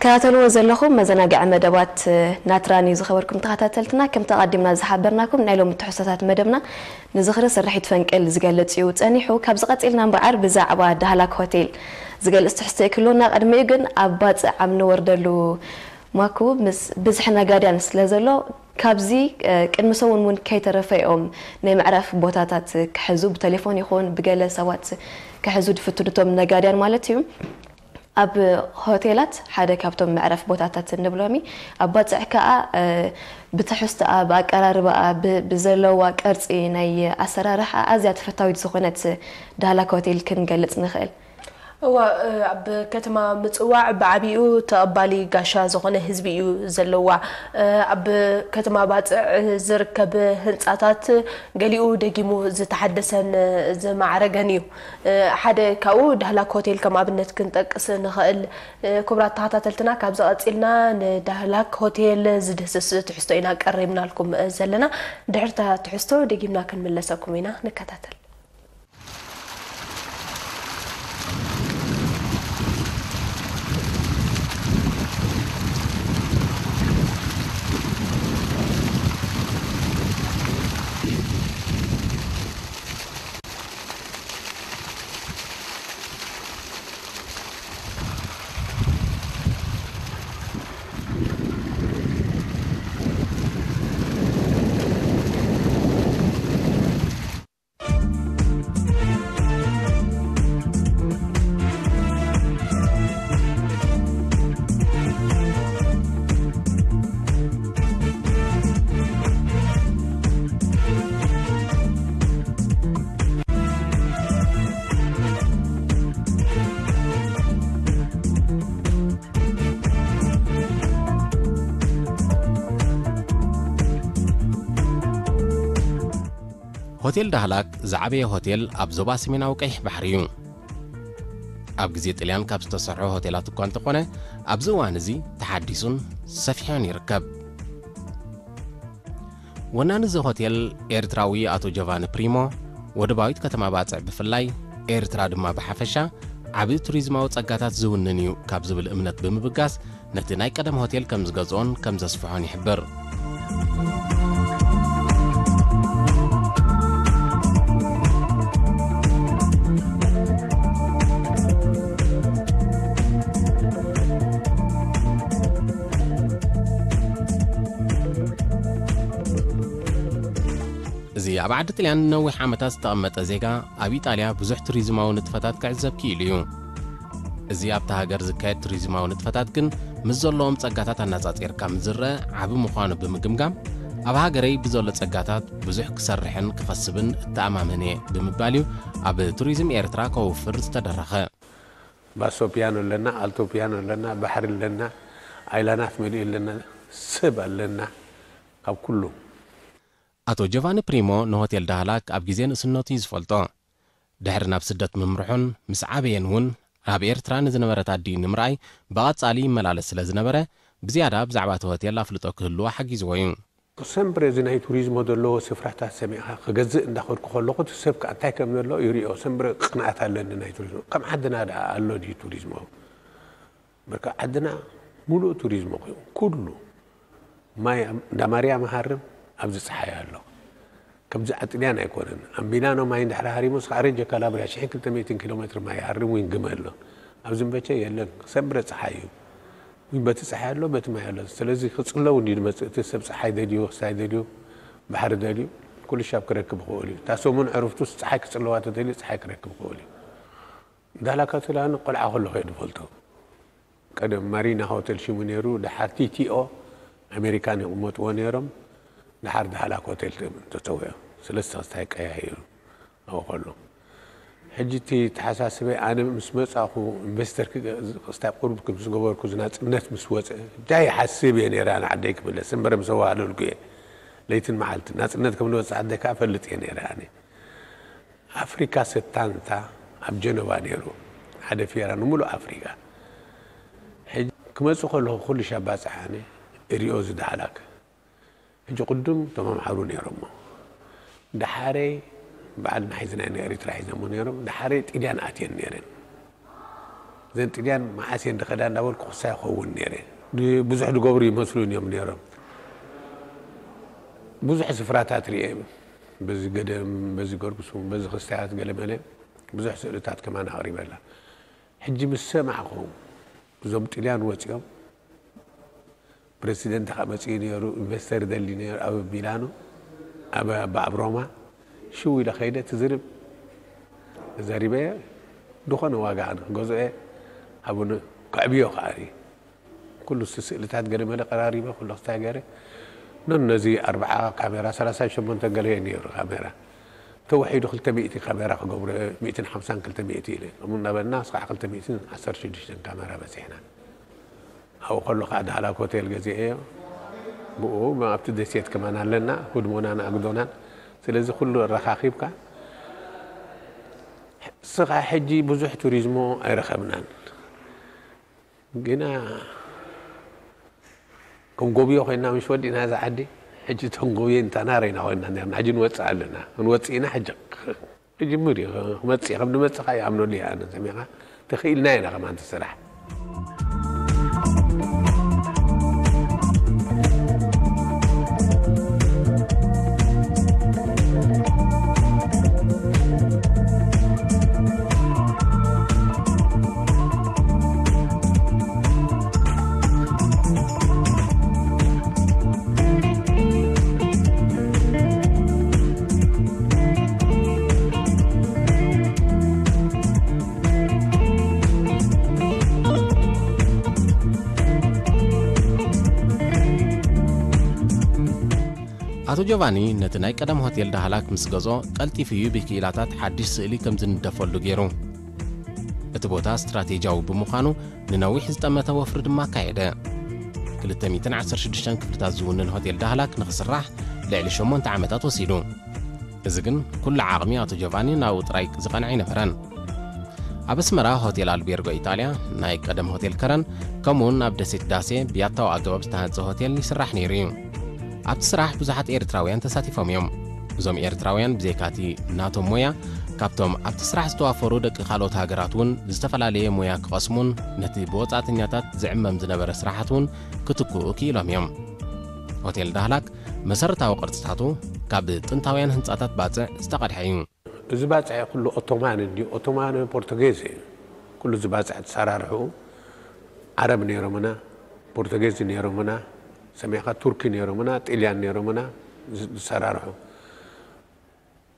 ተኸታተልዎ ዘለኹም መዘናግዒ መደባት ናትራን እዩ። ዝኸበርኩም ተኸታተልትና፣ ከምቲ ኣቐዲምና ዝሓበርናኩም፣ ናይ ሎሚ ትሕዝቶታት መደብና ንዝኽሪ ስርሒት ፈንቅል ዝገልጽ እዩ ጸኒሑ። ካብዚ ቀጺልና እምበኣር ብዛዕባ ዳህላክ ሆቴል ዝገልጽ ትሕዝቶ እዩ ክህልወና። ቅድሚኡ ግን ኣብ ባጽዕ ኣብ ንወርደሉ ማኩ ምስ ብዝሒ ነጋድያን ስለ ዘሎ፣ ካብዚ፣ እ፣ ቅድሚ ሰሙን እውን ከይተረፈ እዮም ናይ መዕረፍ ቦታታት ክሕዙ፣ ብቴሌፎን ይኹን ብገለ ሰባት ክሕዙ ዝፍትኑ፣ እቶም ነጋድያን ማለት እዩ። ኣብ ሆቴላት፣ ሓደ ካብቶም መዕረፍ ቦታታት እንብሎሚ፣ ኣብ ባጽዕ ከኣ፣ እ፣ ብትሕዝቶኣ፣ ብኣቀራርባኣ፣ ብ-፣ ብዘለዋ ቅርጺ ናይ ኣሰራርሓ ኣዝያ ተፈታዊት ዝኾነት ዳህላክ ሆቴል ክንገልጽ ንኽእል። እወ፣ እ፣ ኣብ ከተማ ምጽዋዕ ብዓቢኡ ተቐባሊ ጋሻ ዝኾነ ህዝቢ እዩ ዘለዋ። እ፣ ኣብ ከተማ ባጽዕ ዝርከብ ህንጻታት ገሊኡ ደጊሙ ዝተሓደሰን ዝማዕረገን እዩ። እ፣ ሓደ ካብኡ ዳህላክ ሆቴል ከም ኣብነት ክንጠቅስ ንኽእል። እ፣ ክቡራት ተኸታተልትና፣ ካብዚ ቀጺልና ንዳህላክ ሆቴል ዝድህስስ ትሕዝቶ ኢና ቀሪብናልኩም ዘለና። ድሕርታ ትሕዝቶ ደጊምና ክንምለሰኩም ኢና። ንከታተል። ሆቴል ዳህላክ ዝዓበየ ሆቴል ኣብ ዞባ ሰሜናዊ ቀይሕ ባሕሪ እዩ። ኣብ ግዜ ጥልያን ካብ ዝተሰርሑ ሆቴላት እኳ እንተኾነ፣ ኣብዚ እዋን እዚ ተሓዲሱን ሰፊሑን ይርከብ። ወናኒ እዚ ሆቴል ኤርትራዊ ኣቶ ጆቫኒ ፕሪሞ፣ ወደባዊት ከተማ ባጽዕ ብፍላይ፣ ኤርትራ ድማ ብሓፈሻ፣ ዓቢ ቱሪዝማዊ ጸጋታት ዝውንን እዩ ካብ ዝብል እምነት ብምብጋስ፣ ነቲ ናይ ቀደም ሆቴል ከም ዝገዝኦን ከም ዘስፍሖን ይሕብር። እዚ ኣብ ዓዲ ጥልያን ንነዊሕ ዓመታት ዝተቐመጠ ዜጋ፣ ኣብ ኢጣልያ ብዙሕ ቱሪዝማዊ ንጥፈታት ክዕዘብ ክኢሉ እዩ። እዚ ኣብታ ሃገር ዝካየድ ቱሪዝማዊ ንጥፈታት ግን፣ ምስ ዘለዎም ጸጋታት ኣነጻጺርካ ምስ ዝረአ ዓቢ ምዃኑ ብምግምጋም፣ ኣብ ሃገረይ ብዘሎ ጸጋታት ብዙሕ ክሰርሕን ክኸስብን እተኣማመን እየ ብምባል እዩ ኣብ ቱሪዝም ኤርትራ ከውፍር ዝተደረኸ። ባሶ ፒያኖ ኣለና፣ ኣልቶ ፒያኖ ኣለና፣ ባሕሪ ኣለና፣ ኣይላናት መሊኡ ኣለና፣ ሰብ ኣለና፣ ካብ ኩሉ። ኣቶ ጆቫኒ ፕሪሞ ንሆቴል ዳህላክ ኣብ ግዜ ንእስነቱ እዩ ዝፈልጦ። ድሕሪ ናብ ስደት ምምርሑን ምስ ዓበየን እውን፣ ኣብ ኤርትራ ንዝነበረት ኣዲኡ ንምርኣይ ብቐጻሊ ይመላለስ ስለ ዝነበረ፣ ብዝያዳ ብዛዕባ እቲ ሆቴል ኣፍልጦ ክህልዎ ሓጊዝዎ እዩ። ሰምብረ እዚ ናይ ቱሪዝሞ ዘለዎ ስፍራታት ሰሚዕኻ ክገዝእ እንዳኸድኩ ከለኹ፣ እቲ ሰብ ከኣ እንታይ ከም ዘሎ ይሪኦ። ሰምብረ ቅንኣት ኣለኒ ናይ ቱሪዝሞ። ከም ዓድና ደኣ ኣሎ ድዩ ቱሪዝሞ? በቃ ዓድና ሙሉእ ቱሪዝሞ ኮይኑ፣ ኩሉ ማይ እንዳ ማርያም ይሃርም፣ ኣብዚ ጸሓይ ኣሎ። ከምዚ ኣጥልያን ኣይኮነን። ኣብ ሚላኖ ማይ እንድሕር ሃሪሙስ፣ ኣረ ጀካላብሪያ ሽሕን ክልተ ሚእትን ኪሎ ሜትር ማይ ይሃርም፣ ዊን ግመ ኣሎ። ኣብዚ እምበቸ የለን፣ ሰምብረ ጸሓይ እዩ። ዊን በቲ ጸሓይ ኣሎ፣ በቲ ማይ ኣሎ። ስለዚ ክጽለዉ እንድዩ ዝመጽእ፣ እቲ ሰብ ጸሓይ ደልዩ፣ ክሳይ ደልዩ፣ ባሕሪ ደልዩ፣ ኩሉ ሻብ ክረክብ ይኽእል እዩ። እታ ሰሙን ዕረፍቱስ ጸሓይ ክጽለዋ ተደልዩ፣ ጸሓይ ክረክብ ይኽእል እዩ። ዳላክ ሆቴል ኣነ ቆልዓ ከለኹ እየ ዝፈልጦ። ቀደም ማሪና ሆቴል ሽሙ ነይሩ፣ ደሓር ቲ ቲ ኦ ኣሜሪካን ይቕመጥዎ ነይሮም። ደሓር ዳህላክ ሆቴል ተጸውዖ። ሰለስተ ክስታይ ቀያይሩ ኣብኡ ከሎ። ሕጂ እቲ ተሓሳስበይ ኣነ ምስ መጻኹ ኢንቨስተር ክገ-፣ ክስታይ ቁሩብ ምስ ገበርኩ፣ ናጽነት ምስ ወጸ፣ እንታይ ይሓስብ እየ ነይረ ኣነ ዓደይ ክምለስ። እምበር ምስ ኣዋህለልኩ እየ። ለይትን መዓልትን ናጽነት ከም ዝወጽእ ዓደይ ከኣ እፈልጥ እየ ነይረ ኣነ። ኣፍሪካ ሰታንታ ኣብ ጀነቫ ነይሩ፣ ሓደ ፊራ ንምሉእ ኣፍሪካ። ሕጂ ክመጽእ ከለኹ ኩሉ ሻብ ባጽሕ ኣነ እሪኦ ዝዳህላክ። ሕጂ ቅድም እቶም ኣምሓሩ ነይሮሞ። ደሓረይ በዓል መሓይዝና ናይ ኤሪትራ ሒዘሞ ነይሮም። ደሓረይ ጢልያን ኣትየን ነይረን። ዘን ጥልያን መዓስ እየን ዝኸዳ እንዳበልኩ ክሳይ ይኸውን ነይረ። ብዙሕ ዝገብሩ ይመስሉን እዮም ነይሮም። ብዙሕ ስፍራታት ርእየ፣ በዚ ገደም፣ በዚ ገርጉሱም፣ በዚ ክስታያት ገለመለ ብዙሕ ስእልታት ከማን ኣቕሪበላ። ሕጂ ምስ ሰማዕኹ፣ እዞም ጥልያን ወፂኦም፣ ፕረሲደንት ከዓ መፂኡ ነይሩ፣ ኢንቨስተር ደሊ ነይሩ ኣብ ሚላኖ፣ ኣብ ኣብ ሮማ። ሽው ኢለ ከይደ ትዝርብ ተዛሪበ፣ ዝኾነ ዋጋ ኣነ ክገዝኦ እየ። ኣብኡ ከዕብዮ ከዓ እየ። ኩሉ ስእልታት ገለ መለ ቀራሪበ፣ ኩሉ ክስታይ ገይረ። ኖን ነዚ ኣርብዓ ካሜራ፣ ሰላሳ ሸሞንተ ገለ እዩ ነይሩ ካሜራ። ተወሒዱ ክልተ ሚእቲ ካሜራ ክገብሮ፣ ሚእትን ሓምሳን ክልተ ሚእቲ ኢለ። እሙ እናበልና እስካዕ ክልተ ሚእትን ዓሰርተ ሽዱሽተን ካሜራ በፂሕና። ኣብኡ ከሎ ከዓ ዳህላክ ሆቴል ገዚኤዮ። ብኡ ኣብቲ ደሴት ከማን ኣለና፣ ህድሞናን ኣግዶናን። ስለዚ ኩሉ ኣረኻኺብካ፣ ስኻ ሕጂ ብዙሕ ቱሪዝሞ ኣይረኸብናን። ግና ክንጎብዮ ኮይና ምሽ ወዲእና እዛ ዓዲ፣ ሕጂ ተንጎብዮ እንታና ረኢና ኮይና ነርና። ሕጂ ንወፅእ ኣለና። ክንወፅእ ኢና ሕጂ። ክጅምር እዩ። ክመፅእ፣ ከም ንመፅእ ከዓ ይኣምነሉ እየ ኣነ። ሰሚዕኻ? ተኽኢልና ኢና ከማን እቲ ስራሕ። ኣቶ ጆቫኒ ነቲ ናይ ቀደም ሆቴል ዳህላክ ምስ ገዝኦ፣ ቀልጢፉ እዩ ብክኢላታት ሓድሽ ስእሊ ከም ዝንደፈሉ ገይሩ። እቲ ቦታ ስትራቴጂያዊ ብምዃኑ፣ ንነዊሕ ዝጠመተ ወፍሪ ድማ ኣካየደ። ክልተ ሚእትን ዓሰርተ ሽዱሽተን ክፍልታት ዝውንን ሆቴል ዳህላክ ንኽስራሕ ልዕሊ ሸሞንተ ዓመታት ወሲዱ። እዚ ግን ኩሉ ዓቕሚ ኣቶ ጆቫኒ ናብኡ ጥራይ ዝቐንዐ ኣይነበረን። ኣብ ኣስመራ ሆቴል ኣልቤርጎ ኢጣልያ፣ ናይ ቀደም ሆቴል ከረን፣ ከምኡውን ኣብ ደሴት ዳሴ ብያታዊ ኣገባብ ዝተሃንጸ ሆቴል ይስራሕ ነይሩ እዩ። ኣብቲ ስራሕ ብዙሓት ኤርትራውያን ተሳቲፎም እዮም። እዞም ኤርትራውያን ብዘይካቲ ናቶም ሞያ፣ ካብቶም ኣብቲ ስራሕ ዝተዋፈሩ ደቂ ካልኦት ሃገራት እውን ዝተፈላለየ ሞያ ክቐስሙን ነቲ ብወጻእተኛታት ዝዕመም ዝነበረ ስራሓት እውን ክትክኡ ክኢሎም እዮም። ሆቴል ዳህላክ መሰረታዊ ቅርጽታቱ ካብ ጥንታውያን ህንጻታት ባጽዕ ዝተቐድሐ እዩ። እዚ ባጽዕ ኩሉ ኦቶማን እንድዩ፣ ኦቶማን ፖርቱጌዝ እዩ። ኩሉ እዚ ባጽዕ ተሰራርሑ ዓረብ ነይሮምና፣ ፖርቱጌዝ ነይሮምና፣ ሰሚዕካ ቱርኪ ነይሮምና፣ ጥልያን ነይሮምና ዝ-፣ ዝሰራርሑ።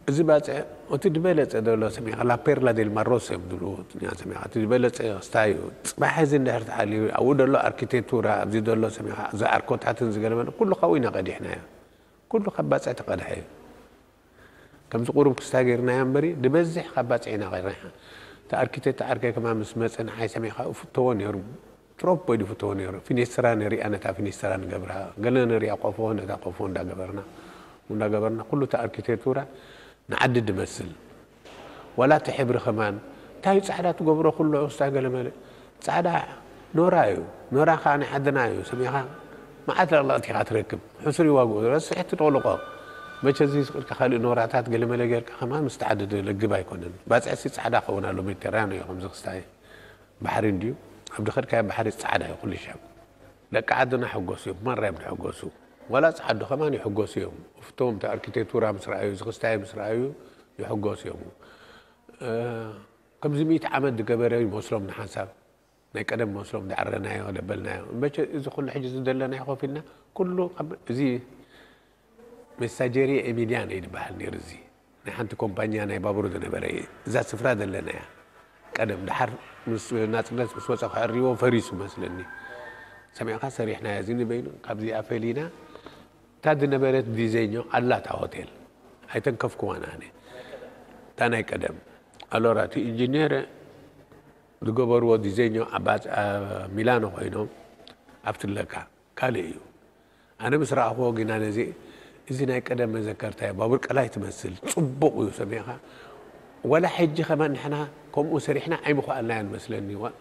እዚ ባጽዕ እቲ ዝበለጸ ዘሎ ሰሚዕካ ላፔርላ ዴል ማሮስ እዮም ዝብልዎ ትግርኛ ሰሚዕካ። እቲ ዝበለጸ ክስታይ እዩ። ጽባሕ እዚ እንድሕር ተሓልዩ ኣብኡ ዘሎ ኣርኪቴክቱራ፣ ኣብዚ ዘሎ ሰሚዕካ፣ እዚ ኣርኮታትን ዝገለመለ ኩሉ ካብኡ ኢና ቀዲሕናዮ። ኩሉ ካብ ባጽዕ ተቐድሐ እዩ። ከምዚ ቁሩብ ክስታይ ገይርናዮ እምበሪ፣ ዝበዝሕ ካብ ባጽዕ ኢና ቀዲሕና። እቲ ኣርኪቴክት ዓርከይ ከማን ምስ መጸ ንዓይ ሰሚዕካ እፍተዎ ነይሩ። ትሮፖ ኢሉ ይፍትዎ ነይሩ። ፊኒስትራ ንሪኣ፣ ነታ ፊኒስትራ ንገብራ፣ ገለ ንሪኣ ቆፎ፣ ነታ ቆፎ እንዳገበርና፣ እንዳገበርና፣ ኩሉ እቲ ኣርኪቴክቱራ ንዓዲ ድመስል። ዋላ እቲ ሕብሪ ከማን፣ እንታይ ጻዕዳ ትገብሮ ኩሉ፣ እስታ ገለ መለ። ጻዕዳ ኖራ እዩ። ኖራ ከኣ ናይ ዓድና እዩ። ሰሚዕካ መዓት ለቕለቕቲ ኢኻ ትረክብ። ሕሱር እዩ ዋግኡ። ረስሕ ትጠቕልቆ። መቸ እዚ ስቕ ኢልካ ካልእ ኖራታት ገለ መለ ጌርካ ከማን ምስቲ ዓዲ ለግብ ኣይኮነን። ባጽዕሲ ጻዕዳ ክኸውን ኣሎ፣ ሜዲተራንዮ እዩ ከምዚ ክስታይ። ባሕሪ እንድዩ፣ ኣብ ዝኸድካዮ ባሕሪ ጻዕዳ እዩ ኩሉ ሻብ። ደቂ ዓድና ሕጎስ እዮም፣ ማራ እዮም ዝሕጎሱ። ዋላ ጻዓዱ ከማን ይሕጎሱ እዮም። እፍቶም እቲ ኣርኪቴክቱራ ምስ ረኣዩ፣ እዚ ክስታይ ምስ ረኣዩ ይሕጎሱ እዮም። እ፣ ከምዚ ሚእቲ ዓመት ዝገበረ ይመስሎም ንሓንሳብ። ናይ ቀደም መስሎም ዝዓረናዮ፣ ደበልናዮ። እምበቸ እዚ ኩሉ ሕጂ ዝደለናዮ ኮፍ ኢልና፣ ኩሉ ካብ እዚ ሜሳጀሪ ኤሚልያን እዩ ዝበሃል ነይሩ። እዚ ናይ ሓንቲ ኮምፓኛ ናይ ባቡር ዝነበረ እዩ። እዛ ስፍራ ዘለና እያ። ቀደም፣ ደሓር ምስ ናጽነት ምስ ወጸ ክዕርይዎ ፈሪሱ መስለኒ። ሰሚዕካ፣ ሰሪሕናዮ። እዚ ንበይኑ ካብዚኣ ፈሊና፣ እታ ዝነበረት ዲዘኞ ኣላታ ሆቴል ኣይተንከፍኩዋን ኣነ። እታ ናይ ቀደም ኣሎራ፣ እቲ ኢንጂነር ዝገበርዎ ዲዘኞ ኣብ ባጽ-፣ ኣብ ሚላኖ ኮይኖም ኣብትለካ ካልእ እዩ። ኣነ ምስ ረኣኽዎ ግና ነዚ፣ እዚ ናይ ቀደም መዘከርታ እዩ። ባቡር ቀላይ ትመስል፣ ጽቡቕ እዩ ሰሚዕኻ። ዋላ ሕጂ ከማን ንሕና ከምኡ ሰሪሕና ኣይምኸኣልናዮን መስለኒ። ዋ-፣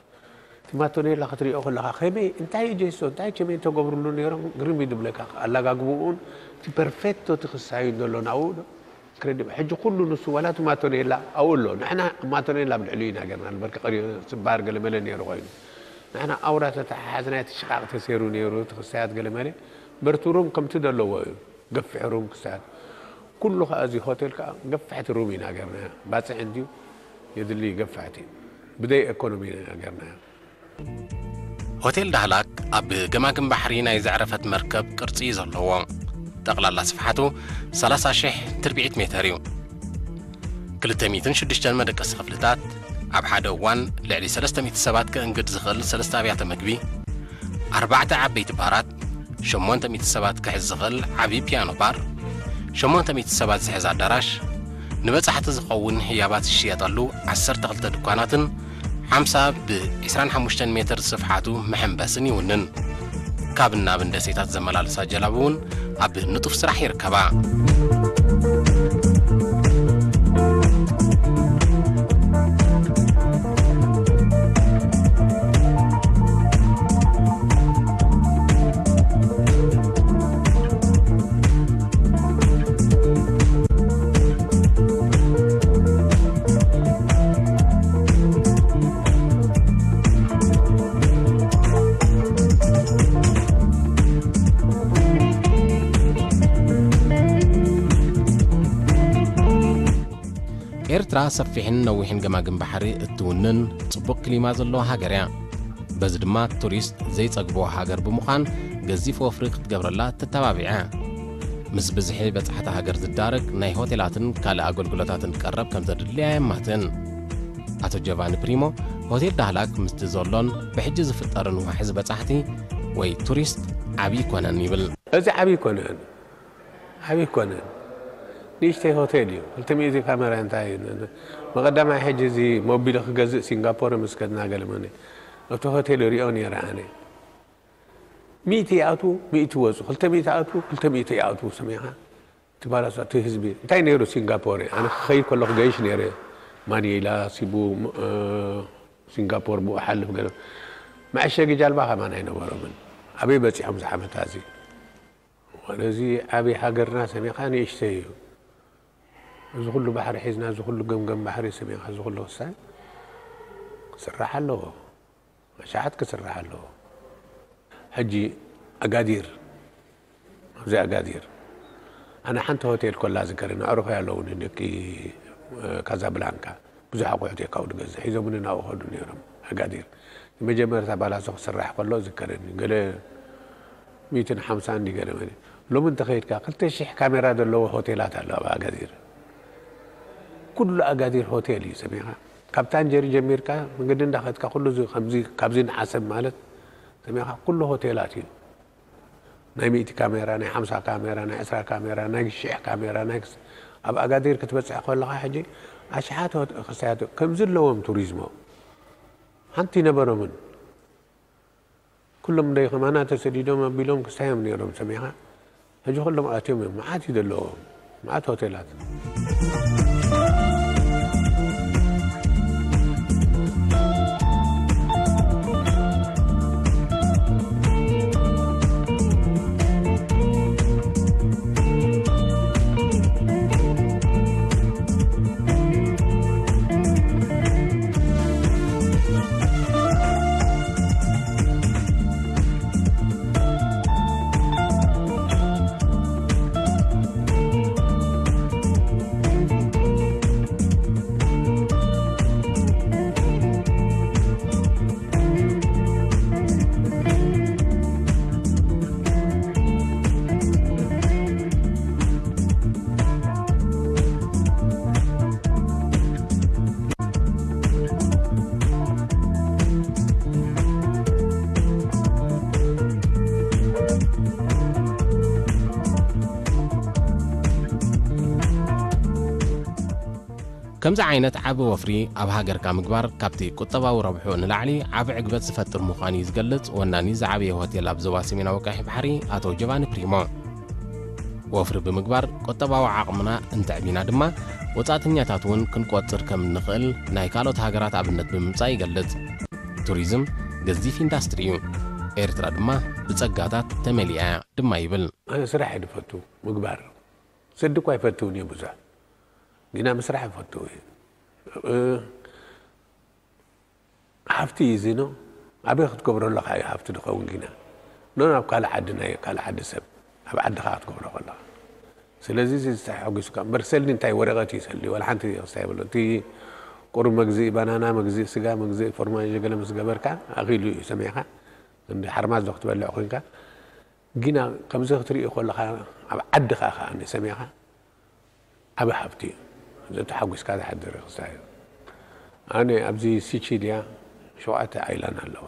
እቲ ማቶኔላ ክትሪኦ ከለኻ ከመይ፣ እንታይ እዩ ጄሶ፣ እንታይ ቸሜንቶ ገብርሉ ነይሮም ግርም እዩ ዝብለካ። ኣላጋግብኡን እቲ ፐርፌክቶ እቲ ክሳዩን ዘሎ ናብኡ ዶ? ክረድእ ሕጂ ኩሉ ንሱ ዋላ እቲ ማቶኔላ ኣብኡ ኣሎ። ንሕና ማቶኔላ ኣብ ልዕሊኡ ኢና ገርና። በርቂ ቀሪቡ ስባር ገለ መለ ነይሩ ኮይኑ። ንሕና ኣውራ ተተሓሓዝና፣ እቲ ሽቓቕ ተሰይሩ ነይሩ፣ እቲ ክሳያት ገለ መለ። በርቲ ሩም ከምቲ ዘለዎ እዩ። ገፊሕ ሩም ክሳያት። ኩሉ ከኣ እዚ ሆቴል ከኣ ገፍሕቲ ሩም ኢና ገርና። ባጽዕ እንድዩ የድሊ ገፍሕቲ። ብደይ ኤኮኖሚ ኢና ገርና። ሆቴል ዳህላክ ኣብ ገማግም ባሕሪ ናይ ዘዕረፈት መርከብ ቅርጺ እዩ ዘለዎ። ጠቕላላ ስፍሓቱ ሰላሳ ሽሕ ትርብዒት ሜተር እዩ። ክልተ ሚእትን ሽዱሽተን መደቀሲ ክፍልታት፣ ኣብ ሓደ እዋን ልዕሊ ሰለስተ ሚእቲ ሰባት ከእንግድ ዝኽእል ሰለስተ ኣብያተ መግቢ፣ ኣርባዕተ ዓበይቲ ባራት፣ ሸሞንተ ሚእቲ ሰባት ክሕዝ ዝኽእል ዓቢ ፒያኖ ባር፣ ሸሞንተ ሚእቲ ሰባት ዝሕዝ ኣዳራሽ፣ ንበጻሕቲ ዝኸውን ህያባት ዝሽየጠሉ ዓሰርተ ክልተ ድኳናትን ሓምሳ ብ ዕስራን ሓሙሽተን ሜትር ስፍሓቱ መሐንበስን ይውንን። ካብን ናብን ደሴታት ዘመላልሳ ጀላቡ እውን ኣብ ንጡፍ ስራሕ ይርከባ። ኤርትራ ሰፊሕን ነዊሕን ገማግም ባሕሪ እትውንን ጽቡቕ ክሊማ ዘለዋ ሃገር እያ። በዚ ድማ ቱሪስት ዘይጸግቦ ሃገር ብምዃን ገዚፍ ወፍሪ ክትገብረላ ተተባቢዐ። ምስ ብዝሒ በጻሕቲ ሃገር ዝዳረግ ናይ ሆቴላትን ካልእ ኣገልግሎታትን ቀረብ ከም ዘድልያ የማትን። ኣቶ ጆቫኒ ፕሪሞ ሆቴል ዳህላክ ምስቲ ዘሎን ብሕጂ ዝፍጠርን ዋሕዚ በጻሕቲ ወይ ቱሪስት ዓብዪ ይኮነን ይብል። እዚ ዓብዪ ይኮነን። ዓብዪ ኣይኮነን። ንእሽተይ ሆቴል እዩ። ክልተ ሚእቲ ካሜራ እንታይ እዩ? መቐዳማይ ሕጂ እዚ ሞቢል ክገዝእ ሲንጋፖር ምስ ከድና ገለመኒ ኣብቲ ሆቴል ይሪኦ ነይረ ኣነ። ሚእቲ ይኣትዉ፣ ሚእቲ ይወፁ፣ ክልተ ሚእቲ ይኣትዉ፣ ክልተ ሚእቲ ይኣትዉ። ሰሚዕኻ? እቲ ባላሳ፣ እቲ ህዝቢ እንታይ ነይሩ ሲንጋፖር? ኣነ ክኸይድ ከለኹ ገይሽ ነይረ። ማኒላ፣ ሲቡ፣ እ፣ ሲንጋፖር ብኡ ሓልፍ ገለ። መዐሸጊ ጃልባ ከማን ኣይነበሮምን። ኣበይ በፂሖም እዚ ዓመት እዚ? ወደዚ ዓብዪ ሃገርና ሰሚኻ ንእሽተይ እዩ። እዚ ኩሉ ባሕሪ ሒዝና፣ እዚ ኩሉ ገምገም ባሕሪ ሰሚኻ፣ እዚ ኩሉ ክሳይ ክስራሕ ኣለዎ። ኣሽሓት ክስራሕ ኣለዎ። ሕጂ ኣጋዲር፣ ኣብዚ ኣጋዲር ኣነ ሓንቲ ሆቴል ኮላ ዝከረ፣ ንኣዕሩኸይ ኣለዉኒ፣ ደቂ፣ እ፣ ካዛብላንካ። ብዙሕ ኣቑሑት እየ ካብኡ ዝገዝእ። ሒዞምኒ ናብኡ ከዱ ነይሮም ኣጋዲር። ንመጀመርታ ባላሶ ክስራሕ ከሎ ዝከረኒ። ገለ ሚእትን ሓምሳን እንዲ ገለ መለ። ሎሚ እንተኸይድካ ክልተ ሽሕ ካሜራ ዘለዎ ሆቴላት ኣሎ ኣብ ኣጋዲር። ኩሉ ኣጋዲር ሆቴል እዩ ሰሚኻ። ካብ ታንጀሪ ጀሚርካ መንገዲ እንዳኸድካ ኩሉ እዚ ከምዚ፣ ካብዚ ንዓሰብ ማለት ሰሚኻ ኩሉ ሆቴላት እዩ። ናይ ሚእቲ ካሜራ፣ ናይ ሓምሳ ካሜራ፣ ናይ ዕስራ ካሜራ፣ ናይ ሽሕ ካሜራ፣ ናይ ክስ-፣ ኣብ ኣጋዲር ክትበጽሕ ከለኻ ሕጂ ኣሽሓት ሆት-፣ ክሳያት ከምዚ ኣለዎም ቱሪዝሞ። ሓንቲ ይነበሮምን። ኩሎም ደይ ከማና ተሰዲዶም ኣቢሎም ክሳዮም ነይሮም ሰሚኻ። ሕጂ ኩሎም ኣትዮም እዮም። መዓት እዩ ዘለዎም። መዓት ሆቴላት። ከምዚ ዓይነት ዓቢ ወፍሪ ኣብ ሃገርካ ምግባር ካብቲ ቁጠባዊ ረብሑ ንላዕሊ ዓቢ ዕግበት ዝፈጥር ምዃኑ እዩ ዝገልጽ ወናኒ ዝዓበየ ሆቴል ኣብ ዞባ ሰሜናዊ ቀይሕ ባሕሪ ኣቶ ጆቫኒ ፕሪሞ። ወፍሪ ብምግባር ቁጠባዊ ዓቕምና እንተዕቢና ድማ ወጻእተኛታት እውን ክንቆጽር ከም እንኽእል ናይ ካልኦት ሃገራት ኣብነት ብምምጻእ ይገልጽ። ቱሪዝም ገዚፍ ኢንዳስትሪ እዩ። ኤርትራ ድማ ብጸጋታት ተመሊኣ እያ ድማ ይብል። ኣነ ስራሕ እየ ዝፈቱ ምግባር። ስዲ እኳ ኣይፈትውን እየ ብዙሕ። ግና ምስራሕ ይፈትው እዩ። እ፣ ሃፍቲ እዩ እዚ ኖ። ኣበይ ክትገብሮ ኣለኻ እዩ ሃፍቲ ዝኸውን ግና። ኖ ናብ ካልእ ዓዲ፣ ናይ ካልእ ዓዲ ሰብ፣ ኣብ ዓድኻ ክትገብሮ ከለኻ። ስለዚ እዚ ተሓጒስካ እምበር ሰልዲ እንታይ ወረቐት እዩ ሰልዲ፣ ዋላ ሓንቲ ክስታይ የብሎ። እቲ ቁሩብ መግዝኢ ባናና፣ መግዝኢ ስጋ፣ መግዝኢ ፎርማጅ ገለ ምስ ገበርካ ኣኺሉ እዩ ሰሚዕኻ። እንዲ ሓርማዝ ዶ ክትበልዕ ኮይንካ። ግና ከምዚ ክትርኢ ከለኻ ኣብ ዓድኻ ከኣ ሰሚዕኻ ዓቢ ሃብቲ እዩ። ዘተሓጒስካ ዝሓድር ክስታይ እዩ። ኣነ ኣብዚ ሲቺልያ ሸውዓተ ኣይላን ኣለዋ።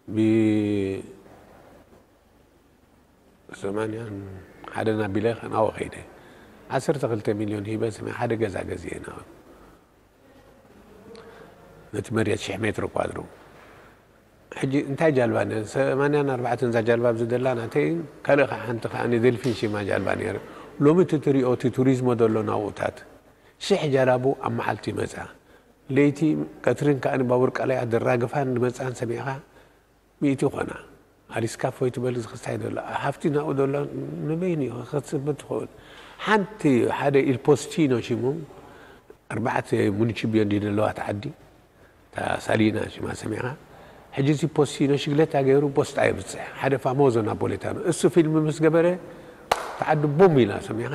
ብ ሰማንያን ሓደን ኣቢለ ናብኡ ከይደ። ዓሰርተ ክልተ ሚልዮን ሂበ ስመ ሓደ ገዛ ገዚኤ ናብኡ። ነቲ መሬት ሽሕ ሜትሮ ኳድሮ። ሕጂ እንታይ ጃልባ ነይረ? ሰማንያን ኣርባዕተን እዛ ጃልባ ኣብዚ ደላ ናተይ፣ ካልእ ከዓ ሓንቲ ከዓ ኔደልፊን ሽማ ጃልባ ነይረ። ሎሚ እቲ ትሪኦ እቲ ቱሪዝሞ ዘሎ ናብኡታት ሽሕ ጃላቡ ኣብ መዓልቲ ይመጻ። ለይቲ ቀትርን ከዓ ንባቡር ቀላይ ኣደራግፋን ዝመጻን ሰሚዕኻ ሚእቲ ይኾና። ኣሊስካ ፎይ ትበል ዝኽስታይ ዘሎ። ሃፍቲ ናብኡ ዘሎ ንበይኑ እዩ ክኸስብ ትኸውን። ሓንቲ ሓደ ኢልፖስቲኖ ሽሙ ኣርባዕተ ሙኒችብዮ እንዲ ዘለዋ እቲ ዓዲ። እታ ሳሊና ሽማ ሰሚዕኻ። ሕጂ እዚ ፖስቲኖ ሽግለታ ገይሩ ፖስጣ የብጽሕ። ሓደ ፋሞዞ ናፖሌታኖ። እሱ ፊልም ምስ ገበረ እቲ ዓዲ ቡም ኢላ ሰሚዕኻ።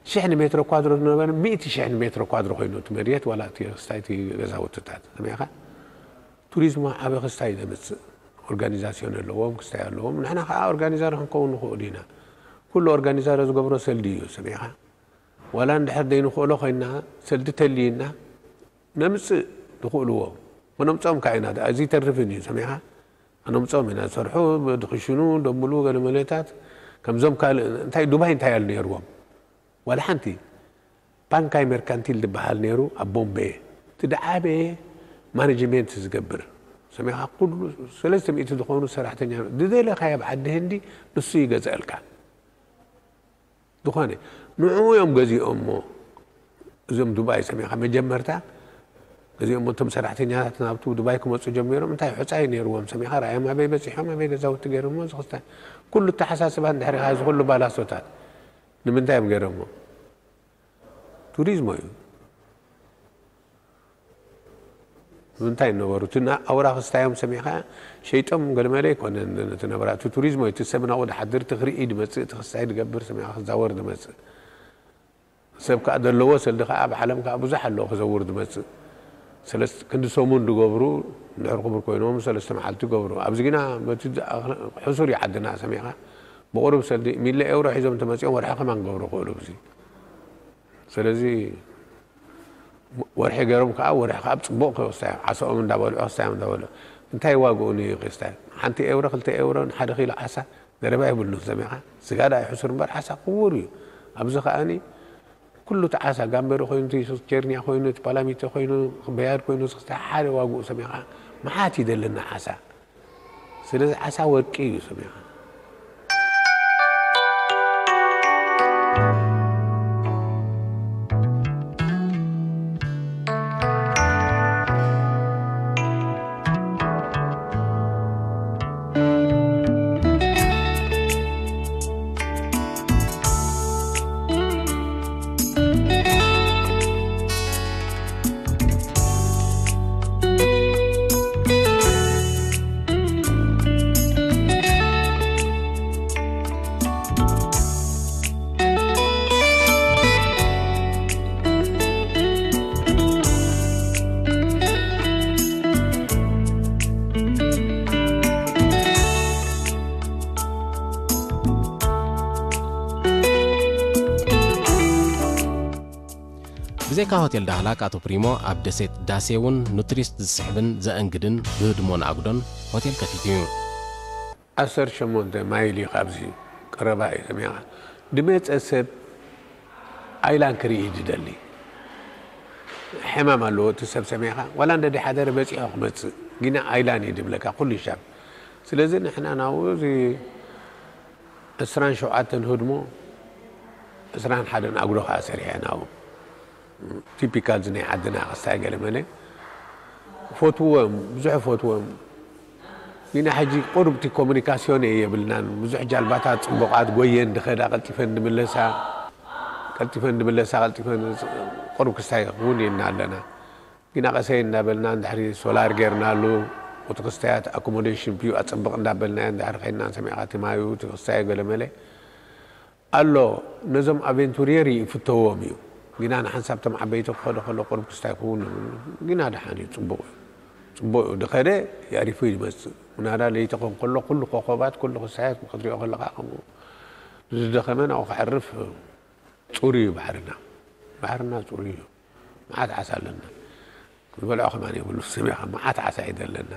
ሽሕ ንሜትሮ ኳድሮ ዝነበረ ሚእቲ ሽሕ ንሜትሮ ኳድሮ ኮይኑ እቲ መሬት ዋላ እቲ ክስታይ እቲ ገዛውትታት ሰሚዕኻ። ቱሪዝም ዓቢ ክስታይ ዘምጽእ ኦርጋኒዛሲዮን ኣለዎም፣ ክስታይ ኣለዎም። ንሕና ከዓ ኦርጋኒዘር ክንከውን ንኽእል ኢና። ኩሉ ኦርጋኒዘር ዝገብሮ ሰልዲ እዩ ሰሚዕኻ። ዋላ እንድሕር ዘይንኽእሎ ኮይንና ሰልዲ ተልይና ነምጽእ ንኽእልዎ ከነምጽኦም ከዓ ኢና። እዚ ይተርፍን እዩ ሰሚዕኻ። ከነምጽኦም ኢና ዝሰርሑ፣ ድኽሽኑ ደምሉ ገለ መለታት ከምዞም ካልእ እንታይ ዱባይ እንታይ ኣሉ ነይርዎም። ዋላ ሓንቲ ፓንካይ መርካንቲል ዝበሃል ነይሩ ኣብ ቦምቤ። እቲ ደዓበየ ማኔጅሜንት ዝገብር ሰሚዕኻ። ኩሉ ሰለስተ ሚእቲ ዝኾኑ ሰራሕተኛ ድደለኻዮ ኣብ ዓዲ ህንዲ ንሱ ይገዝአልካ። ዝኾነ ንዕኡ እዮም ገዚኦሞ። እዞም ዱባይ ሰሚዕኻ መጀመርታ ገዚኦሞ። እቶም ሰራሕተኛታት ናብቲ ዱባይ ክመፁ ጀሚሮም እንታይ ሑፃ እዩ ነይርዎም ሰሚዕኻ። ራእዮም ኣበይ በፂሖም ኣበይ ገዛውቲ ገይሮሞ ዝኽስታይ ኩሉ ኣተሓሳስባ እንድሕር ኢኻ እዚ ኩሉ ባላሶታት ንምንታይ እዮም ገይሮሞ? ቱሪዝሞ እዩ። እንታይ ነበሩ እቲ ና- ኣውራ ክስታዮም ሰሚዕኻ ሸይጦም ገለመለ ኣይኮነን። እቲ ነበራ እቲ ቱሪዝሞ እዩ። እቲ ሰብ ናብኡ ድሓድር እቲ ክርኢ ድመፅእ እቲ ክስታይ ድገብር ሰሚዕኻ ክዛወር ድመፅእ ሰብ ከዓ ዘለዎ ሰልዲ ከዓ ኣብ ዓለም ከዓ ብዙሕ ኣለዎ ክዘውር ድመፅእ። ሰለስተ ክንዲ ሰሙን ድገብሩ እንድሕር ክቡር ኮይኖም ሰለስተ መዓልቲ ይገብሩ። ኣብዚ ግና በቲ ዝኣ- ሕሱር እዩ ዓድና ሰሚዕኻ ብቁሩብ ሰልዲ ሚለ ኤውሮ ሒዞም ተመፂኦም ወርሒ ከማን ክገብሩ ክእሉ ኣብዚ። ስለዚ ወርሒ ገይሮም ከዓ ወርሒ ከዓ ብፅቡቅ ክስታዮም ዓሳኦም እንዳበልዑ ክስታዮም እንዳበልዑ እንታይ ዋግኡ ንዩ ክስታይ ሓንቲ ኤውሮ ክልተ ኤውሮ ንሓደ ኪሎ ዓሳ ዘረባ የብሉን ሰሚዕኻ። ስጋ ደኣ ይሕሱር እምበር ዓሳ ክቡር እዩ። ኣብዚ ከዓኒ ኩሉ እቲ ዓሳ ጋምበሪ ኮይኑ እቲ ቸርኛ ኮይኑ እቲ ፓላሚቶ ኮይኑ በያድ ኮይኑ ዝክስታይ ሓደ ዋግኡ ሰሚዕኻ። መዓት እዩ ዘለና ዓሳ። ስለዚ ዓሳ ወርቂ እዩ ሰሚዕኻ። ብዘይካ ሆቴል ዳህላክ ኣቶ ፕሪሞ ኣብ ደሴት ዳሴ እውን ንቱሪስት ዝስሕብን ዘእንግድን ብህድሞን ኣጉዶን ሆቴል ከፊቱ እዩ። ዓሰርተ ሸሞንተ ማይል እዩ ካብዚ ቀረባ እዩ ሰሚዕኻ። ድመፀ ሰብ ኣይላን ክርኢ ድደሊ ሕማም ኣለዎ እቲ ሰብ ሰሚዕኻ ዋላ እንደ ድሓደረ በፂሖ ክመፅእ ግና ኣይላን እዩ ድብለካ ኩሉ ሻብ። ስለዚ ንሕና ናብኡ እዚ ዕስራን ሸውዓተን ህድሞ ዕስራን ሓደን ኣጉዶ ከዓ ሰሪሐ ናብኡ። ቲፒካል እዚ ናይ ዓድና ክስታይ ገለ መለ ፈትዎም ብዙሕ ፈትዎም። ግና ሕጂ ቁሩብ እቲ ኮሙኒካሲዮን የብልናን ብዙሕ ጃልባታት ፅቡቓት ጎየን ድኸዳ ቀልጢፈን ድምለሳ። ቀልጢፈን ድምለሳ ቀልጢፈን ቁሩብ ክስታይ ክውን ኢልና ኣለና። ግና ቀሰይ እንዳበልና እንድሕሪ ሶላር ጌርናሉ፣ እቲ ክስታያት ኣኮሞዴሽን ፒዩ ኣጸብቕ እንዳበልናዮ እንድሕሪ ኸይድና፣ ሰሚዕኻ እቲ ማዩ እቲ ክስታዩ ገለመለ ኣሎ። ነዞም ኣቬንቱሪየር ይፍተዎም እዩ። ግና ንሓንሳብ እቶም ዓበይቲ ክኸዱ ከሎ ቁሩብ ክስታይ ክውን ይብሉ። ግና ደሓን እዩ፣ ጽቡቕ እዩ። ጽቡቕ እዩ። ድኸደ የዕሪፉ ይመጽእ። ምናዳ ለይቲ ክኾን ከሎ ኩሉ ኮኾባት፣ ኩሉ ክስታያት ክትሪኦ ከለኻ ከምኡ ዝደኸመ ናብኡ ከዕርፍ ጽሩይ እዩ ባሕርና። ባሕርና ጽሩይ እዩ። መዓት ዓሳ ኣለና። ክንበልዖ ከማን የብሉ። ሰሚኻ መዓት ዓሳ እዩ ዘለና።